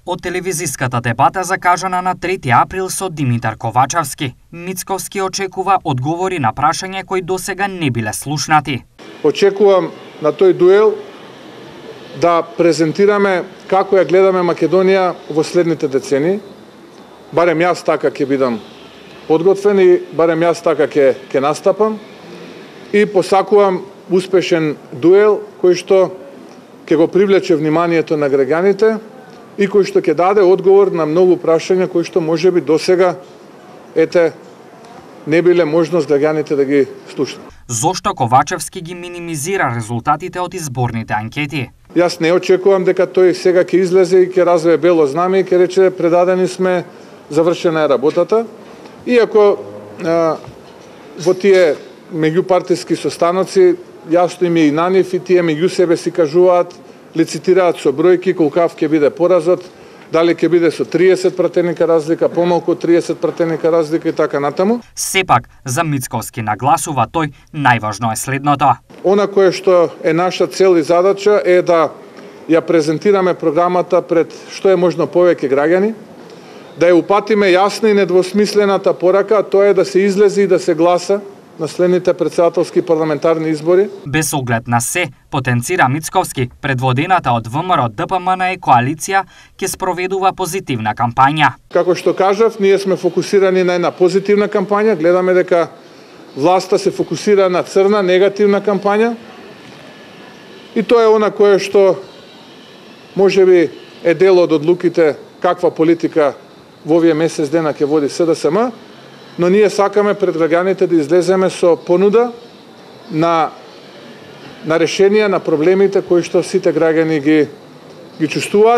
Од телевизиската дебата закажана на 3 април со Димитар Ковачевски, Мицковски очекува одговори на прашања кои досега не биле слушнати. Очекувам на тој дуел да презентираме како ја гледаме Македонија во следните децени. Барем јас така ќе бидам подготвен и барем јас така ќе настапам. И посакувам успешен дуел кој што ќе го привлече вниманието на граѓаните и кој што ќе даде одговор на многу прашања кои што можеби досега не биле можност граѓаните да ги слушнат. Зошто Ковачевски ги минимизира резултатите од изборните анкети? Јас не очекувам дека тој сега ќе излезе и ќе развие бело знаме и ќе рече предадени сме, завршена е работата. Иако во тие меѓупартиски состаноци јасно им е и на нив и тие меѓу себе си кажуваат, лицитираат со бројки колкав ќе биде поразот, дали ќе биде со 30 пратеника разлика, помалку од 30 пратеника разлика и така натаму. Сепак, за Мицковски нагласува тој, најважно е следното. Она кое што е наша цел и задача е да ја презентираме програмата пред што е можно повеќе граѓани, да ја упатиме јасна и недвосмислената порака, тоа е да се излезе и да се гласа на следните претседателски парламентарни избори. Без оглед на се, потенцира Мицковски, предводената од ВМРО ДПМН коалиција ќе спроведува позитивна кампања. Како што кажав, ние сме фокусирани на една позитивна кампања, гледаме дека власта се фокусира на црна, негативна кампања. И тоа е она кое што можеби е дел од одлуките каква политика во овие месец дена ќе води СДСМ, но ние сакаме пред граѓаните да излеземе со понуда на решенија на проблемите кои што сите граѓани ги чувствуваат.